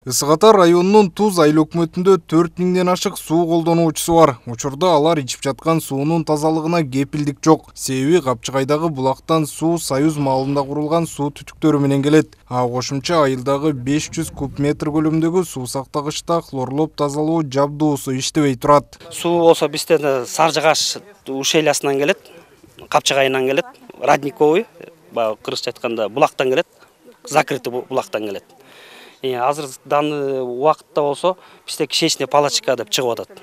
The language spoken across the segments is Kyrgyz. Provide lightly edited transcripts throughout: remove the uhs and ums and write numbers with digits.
Ысык Ата районунун Туз айыл өкмөтүндө 4000ден ашык суу колдонуучусу бар. Учурда алар ичип жаткан суунун тазалыгына кепилдик жок. Себеби Капчыгайдагы булактан суу Союз маалында курулган суу түтүктөрү менен келет. Кошумча айылдагы 500 куб метр көлөмдөгү суу сактагычта хлорлоп тазалоо жабдуусу иштебей турат. Суу болсо бизден Саржыгаш ушелясынан келет, Капчыгайынан келет, Родниковый, кыргызча айтканда булактан келет, закрытый булактан келет. Азыр данный убакытта болсо бизде кишечный палочка деп чыгып атат.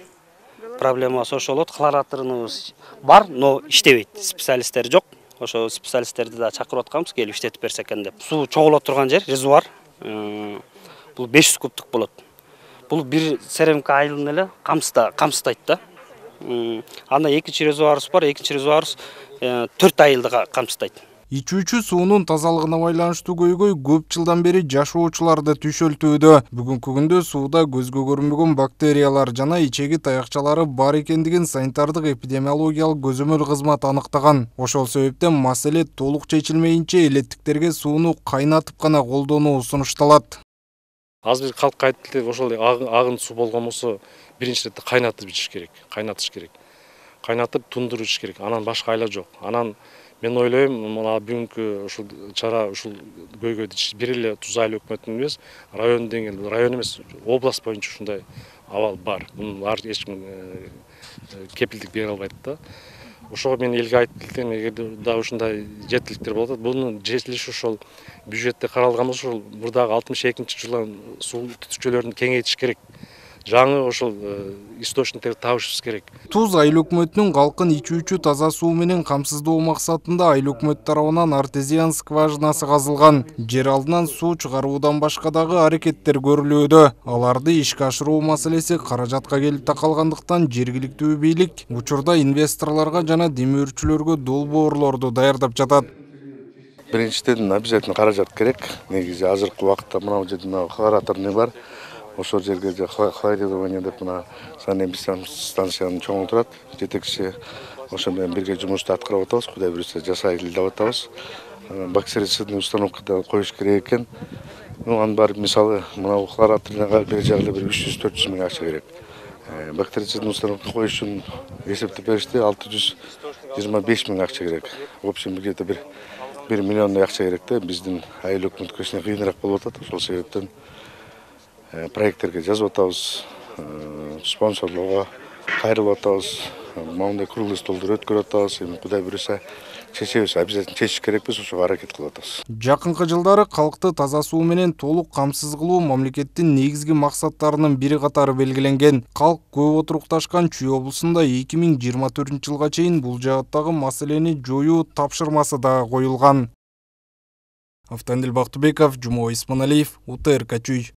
Проблема ошо болот. Хлораторубуз бар, но иштебейт. Специалисттер жок. Ошо специалисттерди да чакырып атканбыз, келип иштетип берсе экен деп. Суу чогуло турган жер резервуар. Бул 500 кубтук болот. Бул бир Серемка айылын эле камсыздайт да. Анда экинчи резервуарыбыз бар. Экинчи резервуарыбыз 4 айылды камсыздайт. Ичүүчү суунун тазалыгына байланыштуу көйгөй көп жылдан бери жашоочуларды түшөлтүүдө. Бүгүнкү күндө сууда көзгө көрүнбөгөн бактериялар жана ичеги таякчалары бар экендигин санитардык эпидемиологиялык көзөмөл кызматы аныктаган. Ошол себептен маселе толук чечилмейинче элеттиктерге сууну кайнатып гана колдонуу сунушталат. Азыр калкка айтты, ошол агын суу болгон болсо биринчи иретте кайнатып ичиш керек, кайнатыш керек. Кайнатып тундуруп ичиш керек. Анан башка айла жок. Анан мен ойлойм, мына бүгүнкү ушул чара ушул көйгөйдү бир эле Туз айыл өкмөтүнүн эмес, район деңгээлде, район эмес, область боюнча ушундай абал бар. Муну ар эч ким кепилдик бере албайт да. Ошого мен элге айтып келдим, эгерде да ушундай жетиликтер болуп атат, мунун жетилиши ошол бюджетте каралган болсо, ошол мурдагы 62-жылы суу түтүкчөлөрүн кеңейтиш керек. Жаңы ошол источниктерди табышыбыз керек. Туз айыл өкмөтүнүн калкын ичүүчү таза суу менен камсыздоо максатында айыл өкмөт тарабынан артезиан скважинасы казылган. Жер алдынан суу чыгаруудан башка дагы аракеттер көрүлүүдө. Аларды ишке ашыруу маселеси каражатка келип такалгандыктан жергиликтүү бийлик учурда инвесторлорго жана демөөрчүлөргө долбоорлорду даярдап жатат. Биринчиден обязательно каражат керек. Негизи азыркы убакытта мына жерде хлораторный бар. Ошол жерге хлоридование деп мына санэпидемиологиялык станцияны чоңолтурат. Жетекчи ошо менен бирге жумушту аткарып атабыз. Кудай буюрса жасайлы деп атабыз. Бактерицидный установкада коюш керек экен. Анын баары мисалы мына хлораторныйга бир жагы бир 300-400 миң акча керек. Бактерицидный установка коюш үчүн эсептеп беришти, 625 миң акча керек. В общем, где-то бир 1 миллиондой акча керек да. Биздин айыл өкмөткө кичине кыйыныраак болуп атат. Ошол себептен проекттерге жазып атабыз, спонсорлорго кайрылып атабыз, моундай круглый столдор өткөрүп атабыз. Эми Кудай буюрса чечебиз, обязательно чечиш керекпиз, ошого аракет кылып атабыз. Жакынкы жылдары калкты таза суу менен толук камсыз кылуу мамлекеттин негизги максаттарынын бири катары белгиленген. Калк көп отурукташкан Чүй облусунда 2024-жылга чейин бул жааттагы маселени жоюу тапшырмасы да коюлган. Автандил Бактыбеков, Жумабек Исманалиев, УТРК Чүй.